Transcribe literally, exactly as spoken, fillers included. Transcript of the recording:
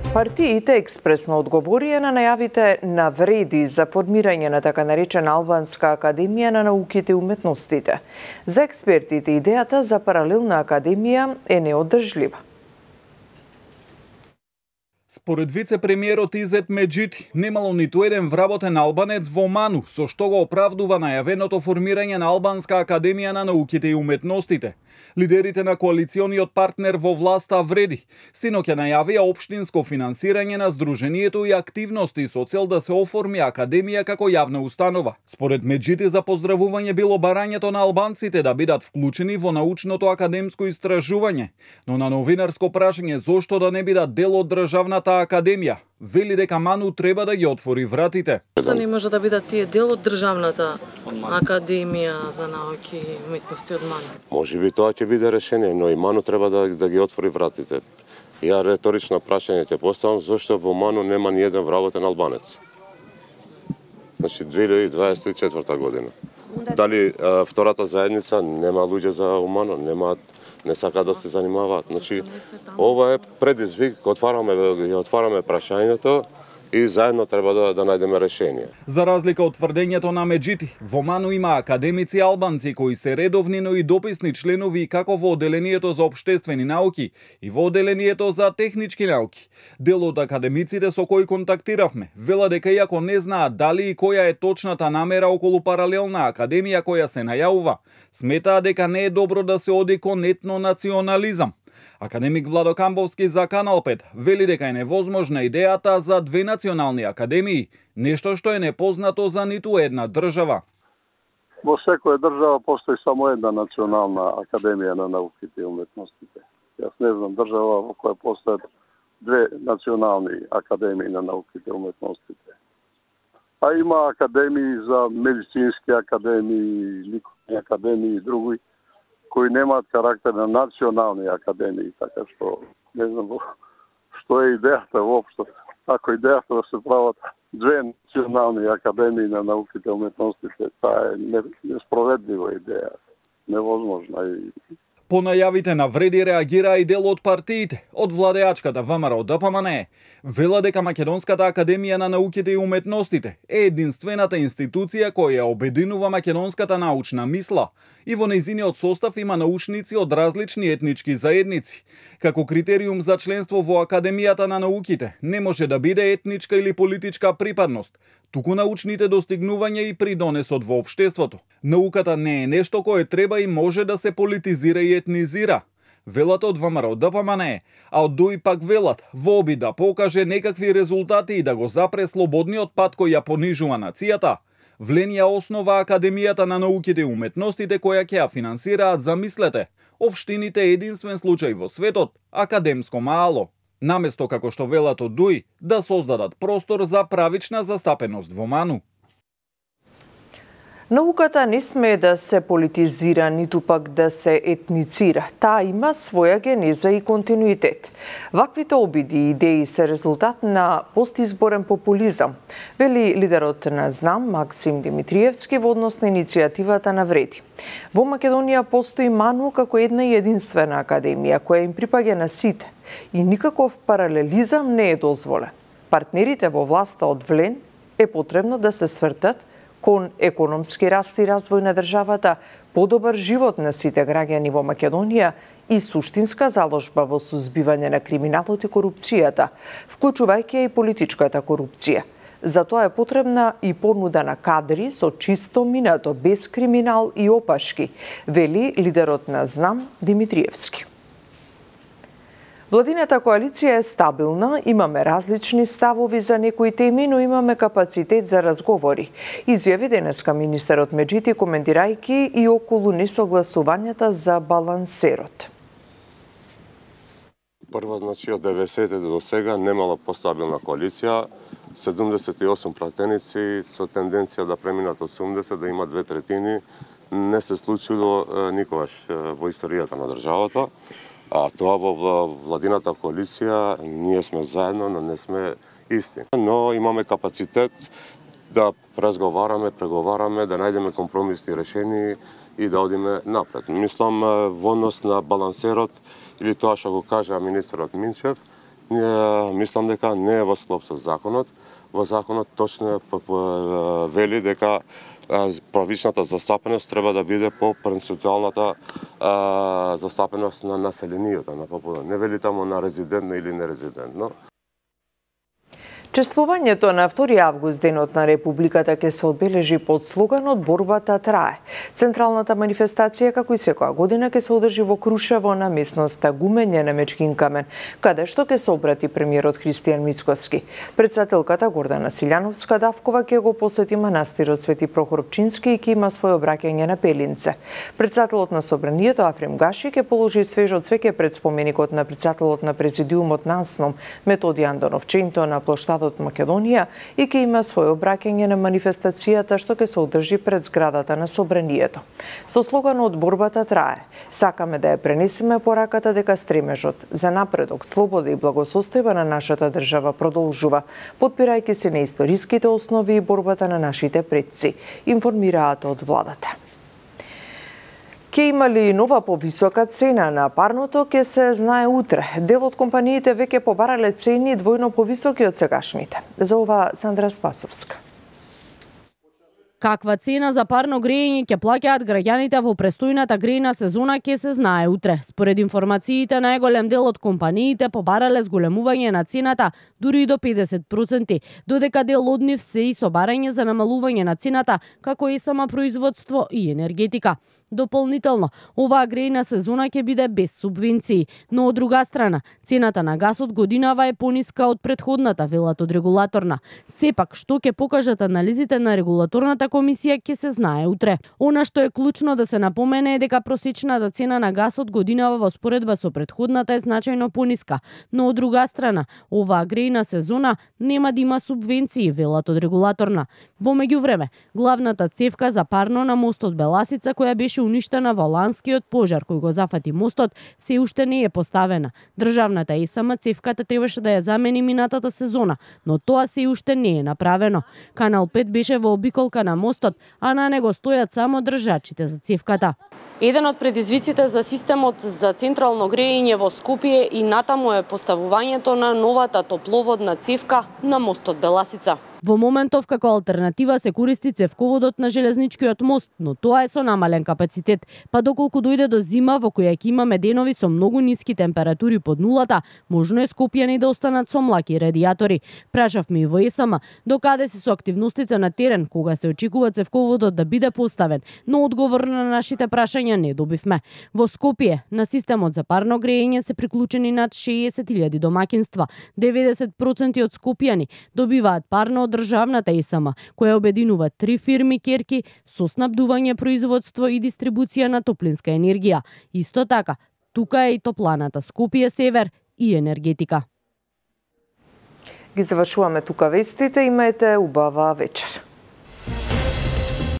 Партиите експресно одговорија на најавите на вреди за формирање на така наречена Албанска академија на науките и уметностите. За експертите, идејата за паралелна академија е неодржлива. Според вице-премиерот Изет Меджити, немало ниту еден вработен албанец во Ману, со што го оправдува најавеното формирање на Албанска академија на науките и уметностите. Лидерите на коалициониот партнер во власта вреди, синоќа најавија општинско финансирање на здруженијето и активности со цел да се оформи академија како јавна установа. Според Меджити, за поздравување било барањето на албанците да бидат вклучени во научното академско истражување, но на новинарско прашање зошто да не бидат дел од државната академија, вели дека Ману треба да ги отвори вратите. Што не може да бидат тие дел од државната академија за науки и уметности од Ману? Може би тоа ќе биде решение, но и Ману треба да, да ги отвори вратите. Ја реторично прашање ќе поставам, зошто во Ману нема ни еден вработен албанец? Значи две илјади дваесет и четврта година. Дали а, втората заедница нема луѓе за Ману, нема, не сака да се занимаваат. Значи ова е предизвик, отвараме ја отвараме прашањето и заедно треба да, да најдеме решение. За разлика од тврдењето на Меджити, во Ману има академици албанци кои се редовни, но и дописни членови како во Оделението за општествени науки и во Оделението за технички науки. Дел од академиците со кои контактиравме вела дека иако не знаат дали и која е точната намера околу паралелна академија која се најавува, сметаа дека не е добро да се оди кон етнонационализам. Академик Владо Камбовски за Канал пет вели дека е невозможна идејата за две национални академии, нешто што е непознато за ниту една држава. Во секоја држава постои само една национална академија на науките и уметностите. Јас не знам држава во која постојат две национални академии на науките и уметностите. А има академии за медицински академии, ликовни академии и други, кои немаат карактер на национални академии, така што не знам што е идејата воопшто. Ако идејата да се прават две национални академии на науките и уметностите, таа е неспроведлива идеја, невозможна. По најавите на вреди реагираа и дел од партиите, од владеачката ВМРО Д П М Н Е. Вела дека Македонската академија на науките и уметностите е единствената институција која обединува македонската научна мисла и во нејзиниот состав има научници од различни етнички заедници. Како критериум за членство во Академијата на науките не може да биде етничка или политичка припадност, туку научните достигнувања и придонесот во општеството. Науката не е нешто кое треба и може да се политизира и етнизира, велат од ВМРО Д П М Н Е, а од ДУИ пак велат во обид да покаже некакви резултати и да го запре слободниот пат кој ја понижува нацијата. Вленија основа Академијата на науките и уметностите која ќе ја финансираат, замислете, општините единствен случај во светот, академско маало. Наместо како што велат од ДУИ, да создадат простор за правична застапеност во Ману. Науката не смее да се политизира, ниту пак да се етницира. Таа има своја генеза и континуитет. Ваквите обиди и идеи се резултат на постизборен популизам, вели лидерот на ЗНАМ Максим Димитриевски во однос на иницијативата на вреди. Во Македонија постои Ману како една и единствена академија која им припаѓа на сите и никаков паралелизам не е дозволен. Партнерите во власта од Влен е потребно да се свртат кон економски раст и развој на државата, подобар живот на сите граѓани во Македонија и суштинска заложба во сузбивање на криминалот и корупцијата, вклучувајќи и политичката корупција. Затоа е потребна и понуда на кадри со чисто минато, без криминал и опашки, вели лидерот на ЗНАМ Димитриевски. Владината коалиција е стабилна, имаме различни ставови за некои теми, но имаме капацитет за разговори, изјави денеска министерот Меджити коментирајќи и околу несогласувањата за балансерот. Прво, значи, од деветдесетите до сега немала постабилна коалиција, седумдесет и осум пратеници со тенденција да преминат осумдесет, да има две третини, не се случило никогаш во историјата на државата. А тоа во владината коалиција ние сме заедно, но не сме исти. Но имаме капацитет да разговараме, преговараме, да најдеме компромисни решенија и да одиме напред. Мислам во однос на балансерот или тоа што го кажа министерот Минчев, мислам дека не е во склоп со законот. Во законот точно вели дека правичната застапеност треба да биде по перценtuалната застапеност на населението, на попула. Не вели тамо на резидентно или нерезидентно. Чествувањето на втори август, денот на Републиката, ќе се одбележи под слоганот "Борбата трае". Централната манифестација, како и секоја година, ќе се одржи во Крушево на местноста Гумење на Мечкин камен, каде што ќе се обрати премиерот Христијан Мицкоски. Председателката Гордана Силјановска-Давкова ќе го посети манастирот Свети Прохор Пчински и ќе има своје обраќање на Пелинце. Председателот на Собранието Афрем Гаши ќе положи свежо цвеќе пред споменикот на председателот на Президиумот на АНСНОМ Методи Андонов Ченто на плоштадот од Македонија и ќе има своје обраќање на манифестацијата што ќе се одржи пред зградата на Собранието. Со слоганот "Борбата трае", сакаме да ја пренесеме пораката дека стремежот за напредок, слобода и благосостојба на нашата држава продолжува, потпирајќи се на историските основи и борбата на нашите предци, информираат од владата. Ке има ли нова повисока цена на парното, ке се знае утре. Дел од компаниите веќе побарале цени двојно повисоки од сегашните. За ова Сандра Спасовска. Каква цена за парно грејење ќе плаќаат граѓаните во престојната грејна сезона ќе се знае утре. Според информациите, најголем дел од компаниите побарале зголемување на цената дури и до педесет проценти, додека дел од нив се и со барање за намалување на цената, како и сама производство и енергетика. Дополнително, оваа грејна сезона ќе биде без субвенции, но од друга страна, цената на гасот годинава е пониска од претходната, велат од регулаторна. Сепак, што ќе покажат анализите на регулаторната комисија ќе се знае утре. Она што е клучно да се напомене е дека просечната цена на гасот годинава во споредба со претходната е значајно пониска, но од друга страна, оваа грејна сезона нема да има субвенции, велат од регулаторна. Во меѓувреме, главната цевка за парно на мостот Беласица, која беше уништена во ланскиот пожар кој го зафати мостот, се уште не е поставена. Државната ЕСМ цевката требаше да ја замени минатата сезона, но тоа се уште не е направено. Канал пет беше во обиколка на мостот, а на него стојат само држачите за цевката. Еден од предизвиците за системот за централно грејење во Скопје и натаму е поставувањето на новата топловодна цевка на мостот Беласица. Во моментов како алтернатива се користи цевководот на железничкиот мост, но тоа е со намален капацитет, па доколку дојде до зима во која ќе имаме денови со многу ниски температури под нулата, можно е скопјани да останат со млаки радиатори. Прашавме и во ЕСМ докаде се со активностите на терен кога се очекува цевководот да биде поставен, но одговор на нашите прашања не добивме. Во Скопје на системот за парно грејење се приклучени над шеесет илјади домаќинства, деветдесет проценти од скопјани добиваат парно од државната ЕСМ, која обединува три фирми керки со снабдување, производство и дистрибуција на топлинска енергија. Исто така, тука е и топланата Скопје Север и енергетика. Ги завршуваме тука вестите, имаете убава вечер.